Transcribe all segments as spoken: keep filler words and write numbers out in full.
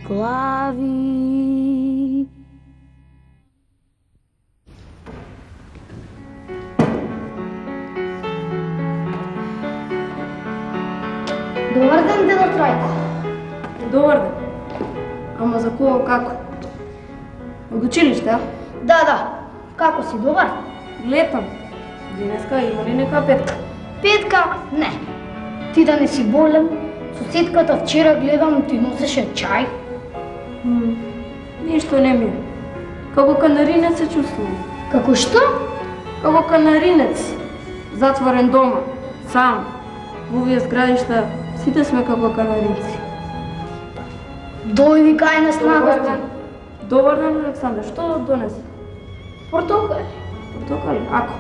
глави. Добар ден, дедо Трајко. Добар ден. Ама за кого, како? Од училиште, а? Да, да. Како си, добар? Летам. Денеска има ли нека петка? Петка? Не. Ти да не си болен? Соседката вчера гледам ти носеше чај. М, ништо не ми е. Како канаринец се чувствувам. Како што? Како канаринец. Затворен дома. Сам. Во овие зградишта сите сме како канаринци. Дојди кај нас на гости. Добар ден, Александр. Што донесе? Портокали. Портокали? Ако?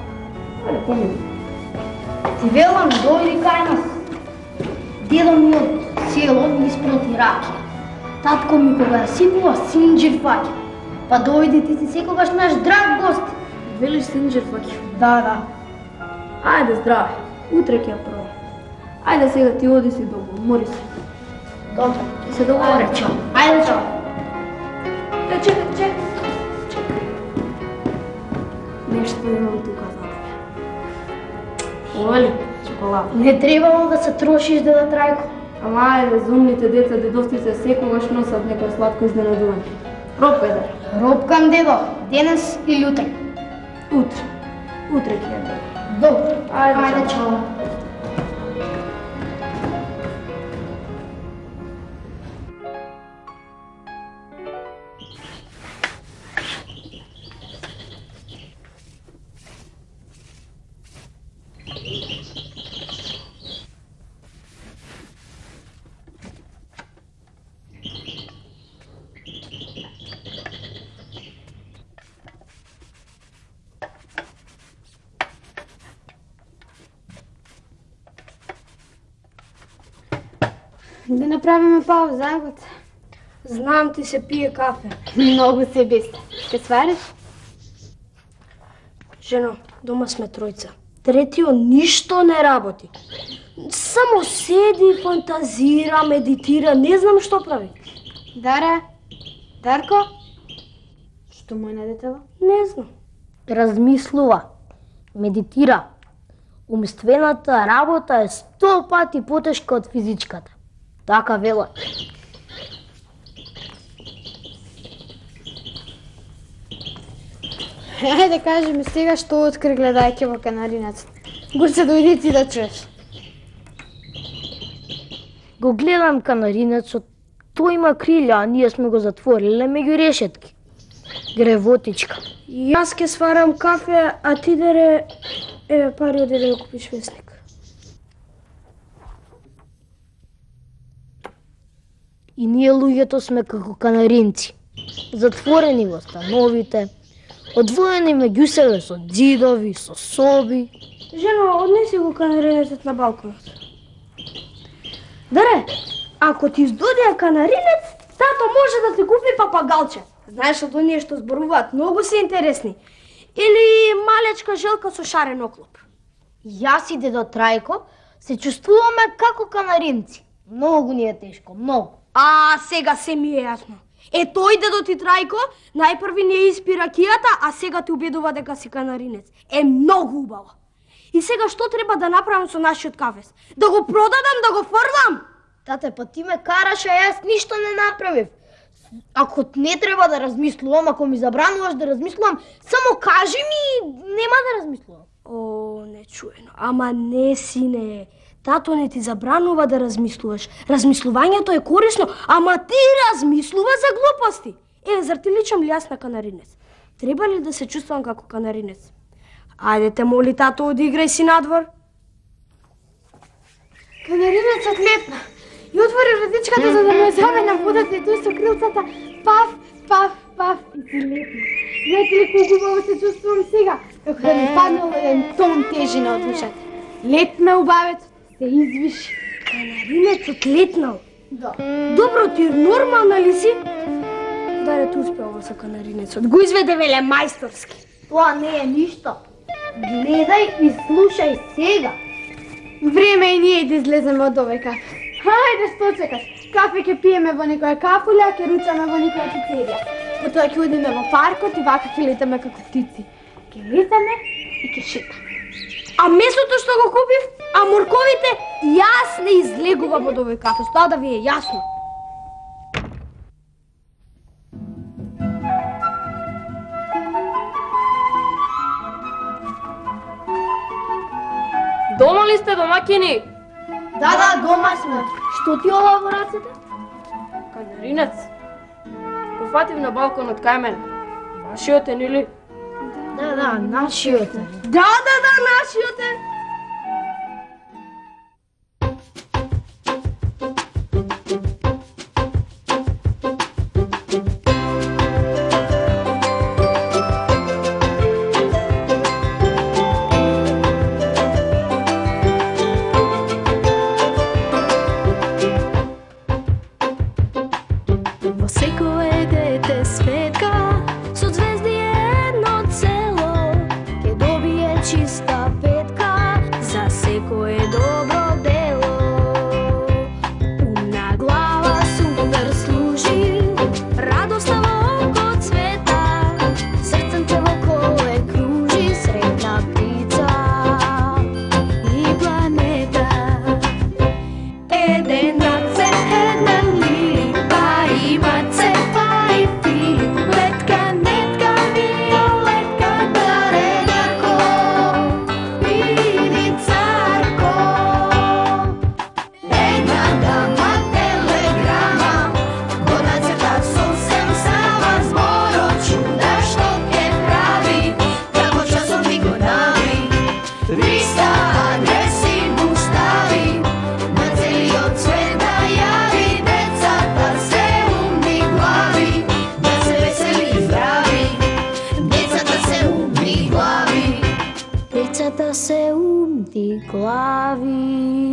Ајде, помини. Ти велам, дојди кај нас. Дедо ми од село ми испрати раки. Татко ми кога ја сипува синџир фаќа. Па дојди, ти си секогаш наш драг гост. Велиш синџир фаќа? Да, да. Ајде, здраве. Утре ќе ја пробам. Ајде сега ти оди си долго, мори се. Добро. Ќе се договори. Ајде, чао. Ајде, чао. Е, чекај, чекај. Чекај. Нешто имам тука за тебе. Ова ли? Чоколада. Не требало да се трошиш, дедо Трајко. Ама ајде, за умните деца, дедовците секогаш носат некој сладко изненадување. Роб педер. Робкам, дедо. Денес или утре? Утре. Утре ќе ја дадам. Добро. Ајде, Ајде, чао. чао. Да направиме пауза, ајбот. Знам ти се пие кафе. Многу се без. Ке свариш? Жено, дома сме тројца. Третиот ништо не работи. Само седи, фантазира, медитира, не знам што прави. Даре? Дарко? Што му е на детево? Не знам. Размислува, медитира. Умствената работа е сто пати потешка од физичката. Така велат. Е, да кажи ми сега што откри гледајќи во канаринецот. Го се дојди ти да чуеш. Го гледам канаринецот, тој има крилја, а ние сме го затвориле меѓу решетки. Гревотичка. Јас ке сварам кафе, а ти дере е пари оди да купиш весник. И ние луѓето сме како канаринци. Затворени во становите, одвоени меѓу себе со ѕидови, со соби. Жено, однеси го канаринецот на балконот. Даре, ако ти издодија канаринец, тато може да ти купи папагалче. Знаеш од оние што зборуваат, многу се интересни. Или малечка желка со шарен оклоп. Јас и дедо Трајко се чувствуваме како канаринци. Многу ни е тешко, многу. А, сега се ми е јасно. Е, тој дедо ти Трајко, најпрви не испи ракијата, а сега ти убедува дека си канаринец. Е, многу убаво. И сега што треба да направам со нашиот кафес? Да го продадам, да го фрлам? Тате, па ти ме караш, а јас ништо не направив. Ако не треба да размислувам, ако ми забрануваш да размислувам, само кажи ми, нема да размислувам. О, нечуено. Ама не, сине. Тато не ти забранува да размислуваш. Размислувањето е корисно, ама ти размислува за глупости. Е, зар ти личам ли јас на канаринец? Треба ли да се чувствам како канаринец? Ајде те моли, тато, одиграј си надвор. Канаринецот летна и отвори вратичката за да ме заве на водата и тој со крилцата паф, паф, паф и си летна. Знаете ли колку убаво се чувствувам сега? Како да ми паднал еден тон тежина од ушата. Летна убавецот, се извиши. Канаринецот летнал? Да. Добро, ти нормална ли си? Даре, ти успева со канаринецот. Го изведе веле мајсторски. Тоа не е ништо. Гледај и слушај сега. Време е ние да излеземе од овој кафе. Хајде, што чекаш? Кафе ќе пиеме во некоја кафуља, ќе ручаме во некоја пицерија. Потоа ќе одиме во паркот и вака ќе летаме како птици. Ќе летаме и ќе шетаме. А месото што го купив, а морковите, јас не излегува од овој кафе, тоа да ви е јасно. Дома ли сте, домакини? Да, да, дома сме. Што ти ова во рацете? Канаринец. Го фатив на балконот кај мене. Вашиот е, нели? Да, да, нашиот е. Да, да, да, нашиот е. Децата се умни глави.